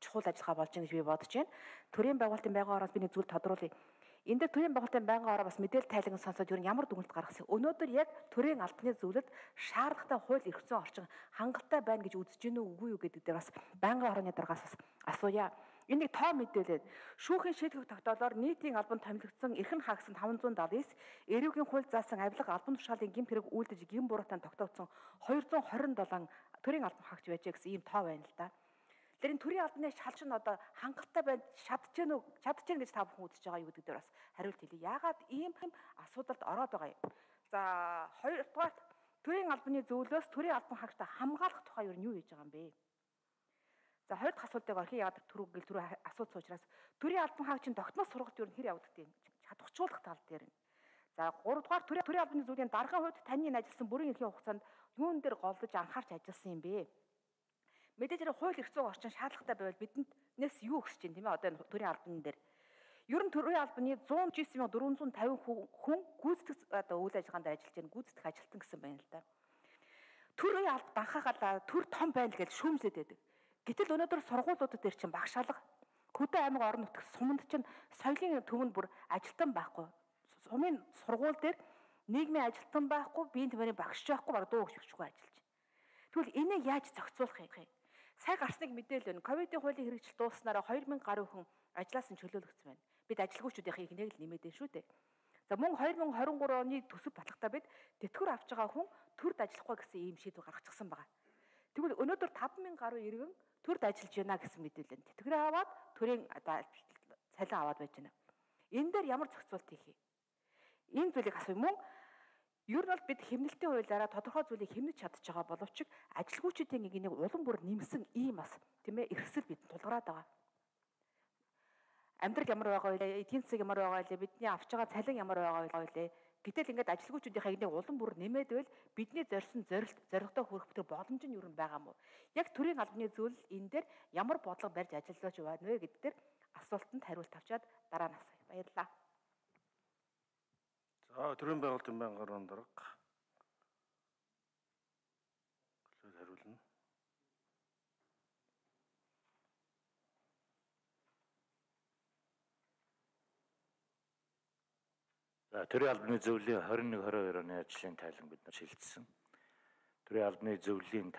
чухал ажиллагаа болж байгаа гэж би бодож байна. Төрийн байгуулалтын байнгын ороос би нэг зүйл тодруулъя. Энд дээр төрийн байгуулалтын байнгын ороо бас мэдээлэл тайлан сонсоод ер нь ямар дүгнэлт гаргасан. Өнөөдөр яг төрийн албаны зөвлөлд шаардлагатай хууль эрх зүйн орчин хангалттай байна гэж үзэж гинүү үгүй юу гэдэг дээр бас байнгын орооны даргаас бас асууя. Энэ нэг тоо мэдээлэл. Шүүхийн шийдвэр тогтоолоор нийтийн албанд томилогдсон эрхэм хаагсан 579, эрүүгийн хууль заасан авилга албан тушаалын гэмт хэрэг үйлдэж гэм буруутаанд тогтоогдсон 227 төрийн албан хаагч байжээ гэсэн ийм тоо байна л да. Тэр энэ төрийн албаны шалч нь одоо хангалттай байна, чадчихна гэж та бүхэн үзэж байгаа юу гэдэг дээр бас хариулт хэлье. Яагаад ийм асуудалд ороод байгаа юм? За, хоёрдугаар төрийн албаны зөвлөлөөс төрийн албан хаагчтай хамгаалах тухай юу хийж байгаа юм бэ? За, хоёр дахь асуултыг орхи яагаад түрүү асууц учраас төрийн албан хаагчийн тогтмол сургалт юу хэр явагддаг юм? Чадварчуулах тал дээр нь. За, гуравдугаар төрийн албаны зөвлөлийн даргын хувьд таны энэ ажилласан бүрийн эрхийн хугацаанд юун дээр голдож анхаарч ажилласан юм бэ? Мэдээж хэрэг хууль эрх зүйн орчин шаардлагатай байвал биднээс юу өгсөж чинь тийм ээ одоо энэ төрийн албаны дээр. Ер нь төрийн албаны 109,450 хүн гүйцэтгэх одоо үйл ажиллагаанд ажиллаж байна, гүйцэтгэх ажилтан гэсэн байна л да. Төрийн албад анхаагаад төр том байна гэж шүүмжлээд байдаг. Гэтэл өнөөдөр сургуулиудад дээр чинь багшаалга Хөдөө аймаг орон нутгийн суманд чинь соёлын төвөнд бүр ажилтан байхгүй. Сумын сургууль дээр нийгмийн ажилтан байхгүй, биеийн тамирын багш байхгүй, баг дуу хөгжигчгүй ажиллаж. Тэгвэл энийг яаж зохицуулах юм? Сая гарсныг мэдээлэл байна. Ковидын хуулийн хэрэгжил дууснараа 2000 гаруй хүн ажлаас нь чөлөөлөгдсөн байна. Бид ажилгүйчүүдийн ихнийг л нэмээд байна шүү дээ. За мөн 2023 оны төсөв батлагтаа бид тэтгэвэр авч байгаа хүн төрд ажиллахгүй гэсэн ийм шийдвэр гаргачихсан байгаа. Тэгвэл өнөөдөр 5000 гаруй иргэн төрд ажиллаж байна гэсэн мэдээлэл байна. Тэтгэврээ аваад төрийн цалин аваад байж байна. Энэ дээр ямар зохицуулт хийх юм? Энэ зүйлийг асууя. Мөн ер нь бол бид хэмнэлтийн хуулиараа тодорхой зүйлийг хэмнэж чадж байгаа боловч ажилгүйчдийн энийг улам бүр нэмсэн ийм бас тийм ээ эрхсэл бид тулгараад байгаа. Амьдрал ямар байгаа вэ? Эдийн засаг ямар байгаа вэ? Бидний авч байгаа цалин ямар байгаа вэ? Гэтэл ингээд ажилгүйчдийн энийг улам бүр нэмээд байвал бидний зорьсон зорилготой хүрэх бүтэр боломж нь ер нь байгаа мó. Яг төрийн албаны зөвлөл энэ дээр ямар бодлого барьж ажиллаж байна вэ гэдэг дээр асуултанд хариулт авчаад дараа нь асууя. Баярлалаа. За, төрийн байгуулалтын байнгын орон дарга хариулна. За, төрийн албаны зөвлөлийн 21-22 оны ажлын тайлан бид нар шилжсэн. Төрийн албаны зөвлөлийн